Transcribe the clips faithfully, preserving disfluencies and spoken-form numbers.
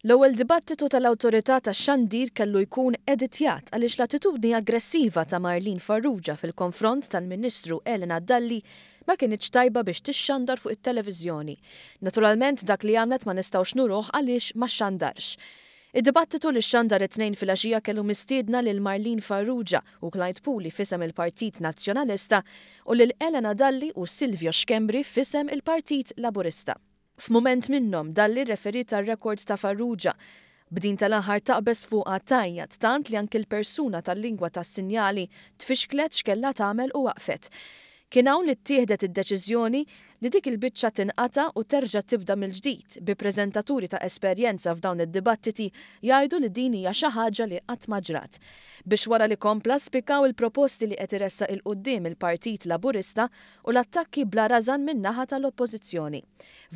L-ewwel dibattitu tal-Awtorità tax-Xandir kellu jkun editjat għaliex l-attitudni aggressiva ta' Marlene Farrugia fil-konfront tal-Ministru Elena Dalli ma kinitx tajba biex tixxandar fuq it-televiżjoni. Naturalment, dak li għamlet ma nistgħux nuruh għaliex ma xandarx. Id-dibattitu li xandar it-Tnejn filgħaxija kellu mistiedna lil Marlene Farrugia u Clyde Puli f'isem il-Partit Nazzjonalista u lil Elena Dalli u Silvio Schembri f'isem il-Partit Laburista. F'mument minnhom, Dalli referiet għar-rekord ta' Farrugia, b'din tal-aħħar taqbeż fuqha tgħajjat, tant li anki l-persuna tal-lingwa tas-sinjali tfixklet x'kellha tagħmel u waqfet. Kien hawn li ttieħdet id-deċiżjoni li dik il-biċċa tinqata' u terġa' tibda mill-ġdid, bi preżentaturi ta' esperjenza f'dawn id-dibattiti jgħidu li din hija xi ħaġa li qatt ma ġrat. Biex wara li kompla spikkaw il-proposti li qed iressaq 'il quddiem il-Partit Laburista u l-attakki bla rażan min-naħa tal-Oppożizzjoni.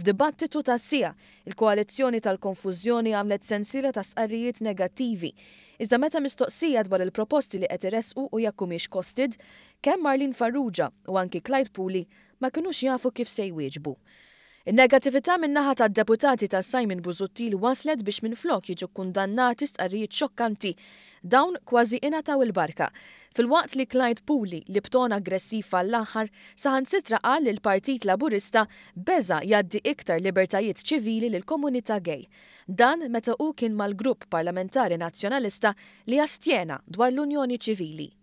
F'dibattitu ta' siegħa, il-koalizzjoni tal-konfużjoni għamlet sensiela ta' stqarrijiet negattivi. Iżda meta mistoqsija dwar il-proposti li qed iressqu u jekk humiex costed, kemm Marlene Farrugia u anki Clyde Puli ma kinux jafu kif se jwieġbu. In-negattività min-naħa tad-deputati ta' Simon Busuttil waslet biex minflok jiġu kundannati stqarrijiet xokkanti, dawn kważi ingħataw il-barka. Filwaqt li Clyde Puli, li b'ton aggressiv għall-aħħar, saħansitra qal li l-Partit Laburista beża jgħaddi iktar libertajiet ċivili lill-komunità gay. Dan meta hu kien mal-grupp parlamentari nazzjonalista li astjena dwar l-Unjoni Ċivili.